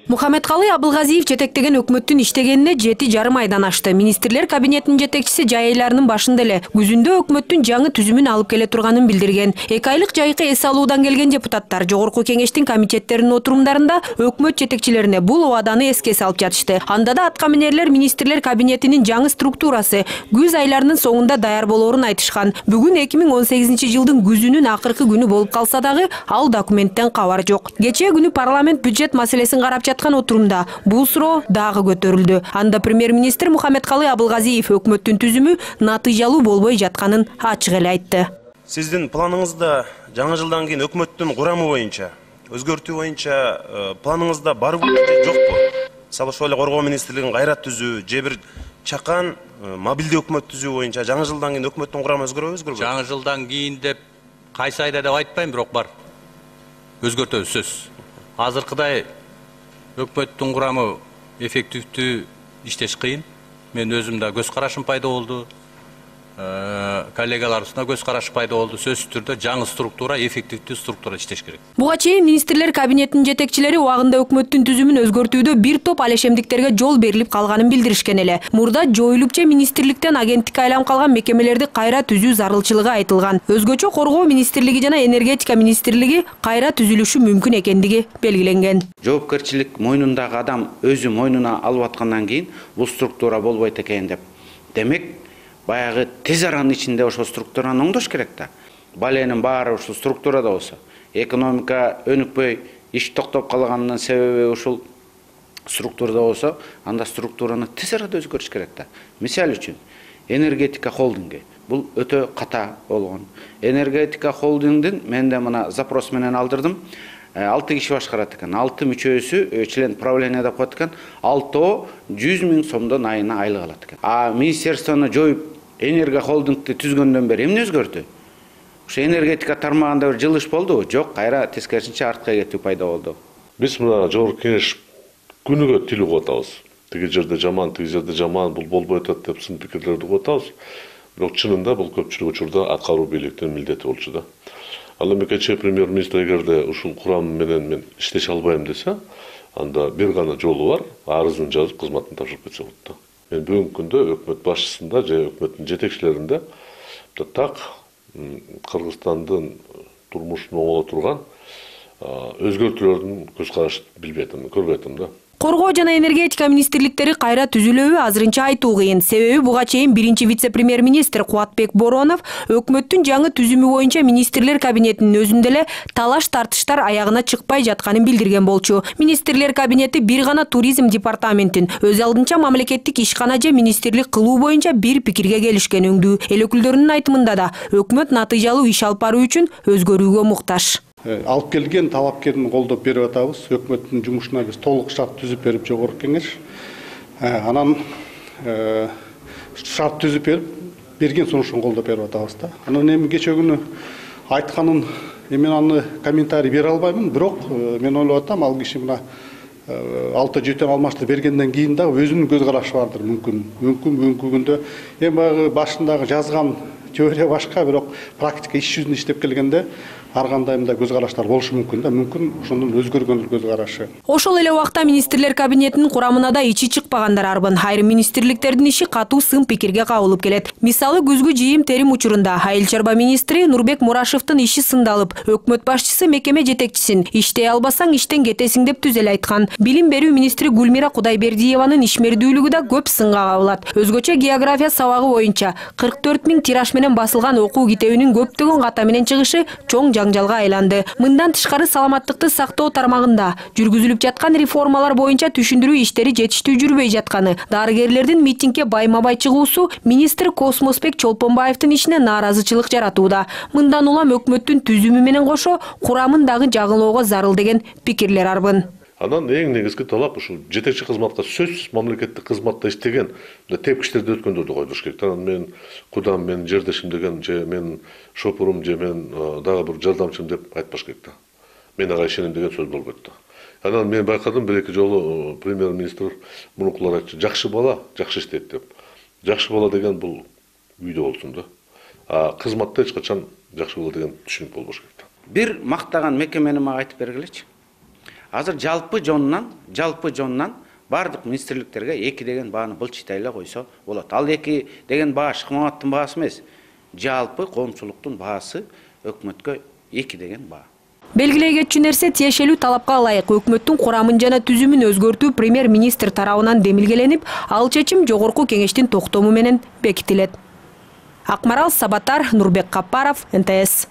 Мухаммедкалый Абылгазиев жетектеген өкмөттүн иштегенине 7,5 айдан ашты. Министрлер кабинетинин жетекчиси жай айларынын башында эле күзүндө өкмөттүн жаңы түзүмүн алып келе турганын билдирген. 2 айлык жайкы эс алуудан келген депутаттар жогорку кеңештин комитеттеринин отурумдарында өкмөт жетекчилерине бул убаданы эске салып жатышты. Анда да аткаминерлер министрлер кабинетинин жаңы структурасы күз айларынын соңунда даяр болоорун айтышкан. Бүгүн 2018 жылдын күзүнүн акыркы күнү болуп калса дагы ал документтен кабар жок. Кечээ күнү парламент бюджет маселесин карап отурумда бул суроо дагы көтөрүлдү. Анда премьер-министр Мухаммедкалый Абылгазиев өкмөттүн түзүмү натыйжалуу болбой жатканын ачык эле айтты. Сиздин планыңызда жаңы жылдан кийин өкмөттүн курамы боюнча, өзгөртүү боюнча планыңызда барбы же жокпу? Мисалы ошол эле коргоо министрлигин кайра түзүү, же бир чакан мобилдүү өкмөт түзүү боюнча жаңы жылдан кийин өкмөттүн курамы өзгөрбөйбү? Жаңы жылдан кийин деп кайсы айда деп айтпайм, бирок бар. Өзгөртөбүз сөз. Азыркыдай өкмөттүн курамы эффективдүү иштеш кыйын. Мен өзүм да көз карашым пайда болду. Коллегаларыбызда көз карашы пайда болду. Сөзсүз түрдө жаңы структура, эффективдүү структура иштеш керек. Буга чейин министрлер кабинетинин жетекчилери убагында өкмөттүн түзүмүн өзгөртүүдө бир топ алешемдиктерге жол берилип калганын билдиришкен эле. Мурда жоюлупча министрликтен агенттикке айланып калган мекемелерди кайра түзүү зарылчылыгы айтылган. Өзгөчө коргоо министрлиги жана энергетика министрлиги кайра түзүлүшү мүмкүн экендиги белгиленген. Жоопкерчилик мойнундагы адам өзү мойнуна алып аткандан кийин бул структура болбойт экен деп. Демек баягы тез аранын ичинде ошол структураны оңдош керек да. Баленин баары ушул структурада болсо, экономика өнүкпөй, иш токтоп калганынын себеби ушул структурада болсо, анда структураны тез арада өзгөрүш керек да. Мисал үчүн, энергетика холдинги бул өтө ката болгон. Энергетика холдингдин мен да мына запрос менен алдырдым. 6 киши башкарат экен. 6 мүчөсү член правления деп коет экен. 6 100 000 сомдон айына айлык алат экен. А министерствону жоюп энерго холдингди түзгөндөн бери эмне өзгөрдү? Ошо энергетика тармагында бир жылыш болдубу? Жок, кайра тескерисинче артка кетүү пайда болду. Биз мына жогорку кеңеш күнүгө тил угуп атабыз. Тиги жерде жаман, тиги жерде жаман, бул болбой атат деп сын пикирлерди угуп атабыз. Бирок чынында бул көпчүлүк учурда аткаруу бийликтин милдети болчу да. Ал эми кечээ премьер-министр эгерде ушул курам менен мен иштеше албайм десе, анда бир гана жолу бар, арызын жазып, кызматын тапшырып кетсе болот да. Мен бүгүнкү күндө өкмөт башчысында же өкмөттүн жетекчилеринде так Кыргызстандын турмушун оңоло турган өзгөртүүлөрдүн көз карашын билбей атам, көрбөй атам да. Коргоо жана энергетика министрликтери кайра түзүлөбү азырынча айтуу кыйын. Себеби буга чейин биринчи вице-премьер-министр Кубатбек Боронов өкмөттүн жаңы түзүмү боюнча министрлер кабинетинин өзүндө эле талаш-тартыштар аягына чыкпай жатканын билдирген болчу. Министрлер кабинети бир гана туризм департаментин өз алдынча мамлекеттик ишкана же министрлик кылуу боюнча бир пикирге келишкен өңдүү. Эл өкүлдөрүнүн айтымында да өкмөт натыйжалуу иш алып баруу үчүн өзгөрүүгө муктаж. Алып келген талапкерин колдоп берип атабыз. Өкмөттүн жумушуна биз толук шарт түзүп берип жогорку кеңеш. Анан шарт түзүп берип, берген сунушун колдоп берип атабыз да. Анан эми кечээ күнү айтканын мен аны комментарий бере албаймын, бирок мен ойлоп атам, ал киши мына 6-7 алмашты бергенден кийин да өзүнүн көз карашы бардыр, мүмкүн бүгүнкү күндө эми баягы башындагы жазган теория башка, бирок практика иш жүзүндө иштеп келгенде ар кандай мындай көз караштар болушу мүмкүн да, мүмкүн ошондон өзгөргөн көз карашы. Ошол эле убакта министрлер кабинетинин курамына да ичи чыкпагандар арбын. Айрым министрликтердин иши катуу сын пикирге кабылып келет. Мисалы күзгү жыйым терим учурунда айыл чарба министри Нурбек Мурашевдин иши сындалып, өкмөт башчысы мекеме жетекчисин иштей албасаң иштен кетесиң деп түз эле айткан. Билим берүү министри Гүлмира Кудайбердиеванын ишмердүүлүгү да көп сынга кабылат. Өзгөчө география сабагы боюнча 44 000 тираж менен басылган окуу китебинин көптөгөн ката менен чыгышы чоң жаңжалга айланды. Мындан тышкары саламаттыкты сактоо тармагында жүргүзүлүп жаткан реформалар боюнча түшүндүрүү иштери жетиштүү жүрбөй жатканы, дарыгерлердин митингге байма-бай чыгуусу министр Космосбек Чолпонбаевдин ишине нааразычылык жаратууда. Мындан улам өкмөттүн түзүмү менен кошо курамын дагы жагылоого зарыл деген пикирлер арбын. Анан эң негизги талап ушул жетекчи кызматка сөзсүз мамлекеттик кызматта иштеген тепкичтерди өткөндөрдү койдуруш керек. Анан мен кудам, мен жердешим деген, же мен шопурум, же мен дагы бир жардамчым деп айтпаш керек да. Мен ага ишенем деген сөз болбойт да. Анан мен байкадым, бир эки жолу премьер-министр мурункулар айтчу, жакшы бала жакшы иштейт деп. Жакшы бала деген бул үйдө болсун да. А кызматта эч качан жакшы бала деген түшүнүк болбош керек да. Бир мактаган мекемени мага айтып бергилечи. Азыр жалпы жонунан бардык министрликтерге 2 деген бааны былчытай эле койсо болот. Ал 2 деген баа Шыкмаматовдун баасы эмес. Жалпы коомчулуктун баасы өкмөткө 2 деген баа. Белгилей кетчү нерсе, тиешелүү талапка ылайык өкмөттүн курамын жана түзүмүн өзгөртүү премьер-министр тарабынан демилгеленип, ал чечим жогорку кеңештин токтому менен бекитилет. Акмарал Сабатар, Нурбек Капаров, НТС.